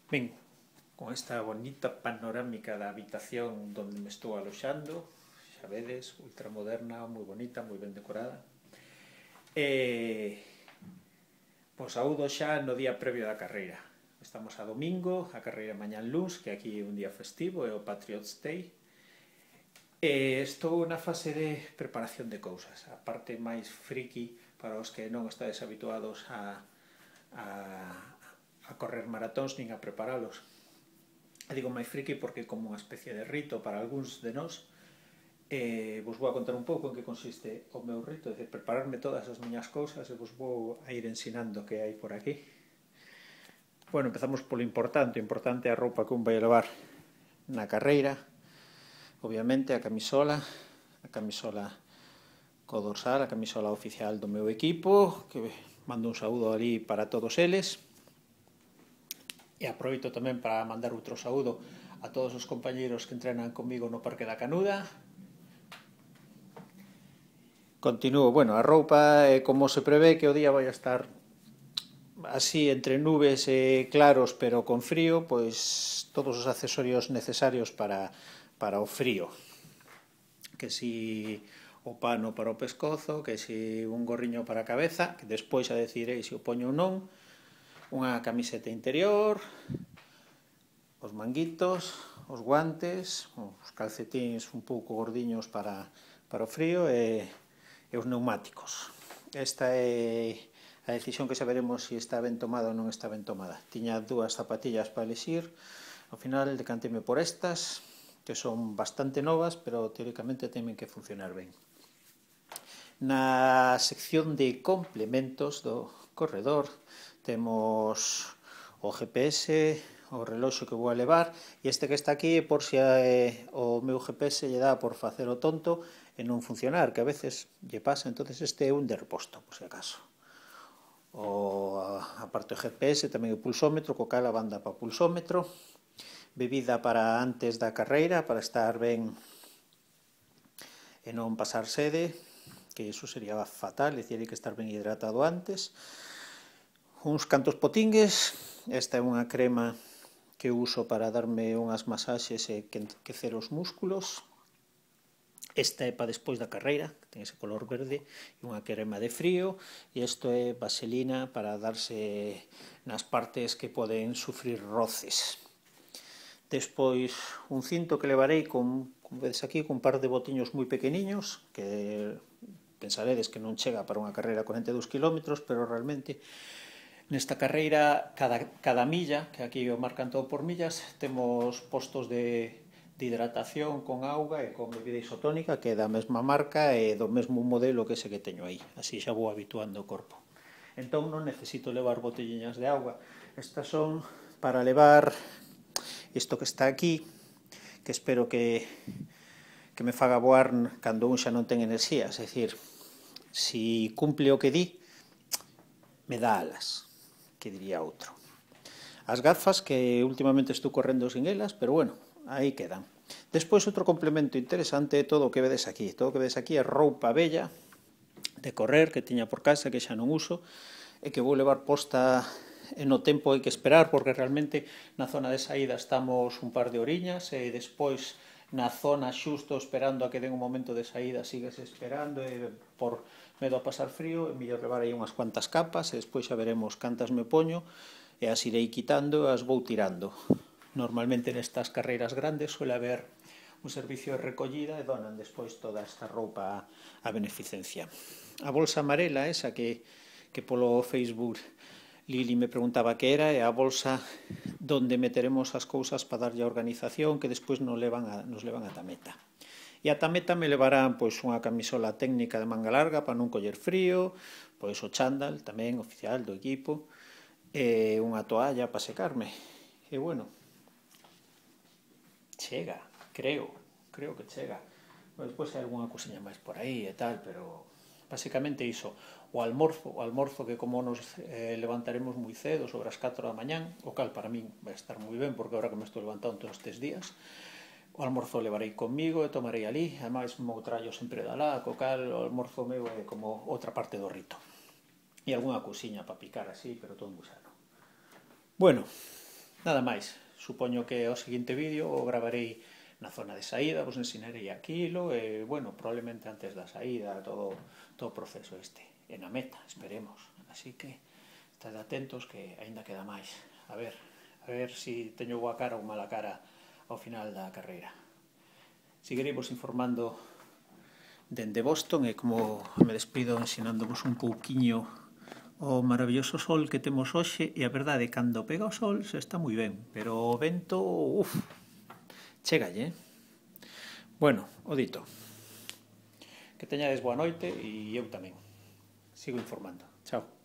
Ben, con esta bonita panorámica da habitación onde me estou aloxando, xa vedes, ultramoderna, moi bonita, moi ben decorada. E, pois saúdo xa no día previo da carreira. Estamos a domingo, a carreira mañán luns, que aquí é un día festivo, é o Patriots Day. E estou na fase de preparación de cousas. A parte máis friki para os que non estades habituados a correr maratóns nin a preparalos. E digo máis friki porque como unha especie de rito para algúns de nós, vos vou a contar un pouco en que consiste o meu rito, é dicir, prepararme todas as miñas cousas e vos vou a ir ensinando que hai por aquí. Bueno, empezamos polo importante. O importante é a roupa que un vai a levar na carreira. Obviamente a camisola co dorsal, a camisola oficial do meu equipo, que mando un saúdo ali para todos eles. E aproveito tamén para mandar outro saúdo a todos os compañeiros que entrenan comigo no Parque da Canuda. Continúo, bueno, a roupa, como se prevé que o día vai a estar así entre nubes e claros pero con frío, pois todos os accesorios necesarios para o frío. Que si o pano para o pescozo, que si un gorriño para a cabeza, que despois a decidirei se o poño ou non, unha camiseta interior, os manguitos, os guantes, os calcetíns un pouco gordiños para o frío e os neumáticos. Esta é a decisión que saberemos se está ben tomada ou non está ben tomada. Tiña dúas zapatillas para elixir, ao final decanteme por estas, que son bastante novas, pero teóricamente temen que funcionar ben. Na sección de complementos do corredor temos o GPS, o reloxo que vou a levar, e este que está aquí é por se o meu GPS lle dá por facer o tonto e non funcionar, que a veces lle pasa, entonces este é un de reposto, por se acaso. Aparte do GPS tamén o pulsómetro, co cal a banda para o pulsómetro, bebida para antes da carreira, para estar ben e non pasar sede, que iso sería fatal, é dicir, hai que estar ben hidratado antes. Uns cantos potingues, esta é unha crema que uso para darme unhas masaxes e quecer os músculos. Esta é para despois da carreira, que ten ese color verde, e unha crema de frío, e isto é vaselina para darse nas partes que poden sufrir roces. Despois un cinto que levarei como vedes aquí, con un par de botiños moi pequeniños, que pensaredes que non chega para unha carreira a 42 km, pero realmente nesta carreira, cada milla, que aquí o marcan todo por millas, temos postos de hidratación con auga e con bebida isotónica, que é da mesma marca e do mesmo modelo que ese que teño aí. Así xa vou habituando o corpo. Entón non necesito levar botelliñas de auga. Estas son para levar isto que está aquí, que espero que me faga voar cando un xa non ten enerxía. É dicir, si cumple o que di, me dá alas, que diría outro. As gafas, que últimamente estou correndo sin elas, pero bueno, aí quedan. Despois, outro complemento interesante é todo o que vedes aquí. Todo o que vedes aquí é roupa bella de correr que tiña por casa, que xa non uso, e que vou levar posta e no tempo hai que esperar, porque realmente na zona de saída estamos un par de horiñas e despois na zona xusto esperando a que den un momento de saída sigues esperando e por medo a pasar frío, é mellor levar aí unhas cuantas capas e despois xa veremos cantas me poño e as irei quitando e as vou tirando. Normalmente nestas carreiras grandes suele haber un servicio de recollida e donan despois toda esta roupa a beneficencia. A bolsa amarela, esa que polo Facebook Lili me preguntaba que era, é a bolsa donde meteremos as cousas para darlle a organización que despois nos levan a tameta. E a tameta me levarán pois unha camisola técnica de manga larga para non coller frío, pois o chándal tamén oficial do equipo, e unha toalla para secarme. E bueno, chega, creo que chega. Despois hai algunha cousiña máis por aí e tal, pero basicamente iso. O almorzo que como nos levantaremos moi cedo, sobre as 4 da mañán, o cal para min vai estar moi ben, porque agora que me estou levantando todos estes días, o almorzo levarei comigo e tomarei ali, ademais mo trallo sempre da lá, co cal o almorzo meu é como outra parte do rito. E algunha cousiña para picar así, pero todo moi sano. Bueno, Nada máis, supoño que o seguinte vídeo o gravarei na zona de saída, vos ensinarei aquilo e, bueno, probablemente antes da saída, todo o proceso este, e na meta, esperemos. Así que, estad atentos que aínda queda máis. A ver se teño boa cara ou mala cara ao final da carreira. Seguiremos informando dende Boston e como me despido ensinándovos un pouquiño o maravilloso sol que temos hoxe e a verdade, cando pega o sol se está moi ben, pero o vento, chégalle, Bueno, o dito. Que teñades boa noite e eu tamén. Sigo informando. Chao.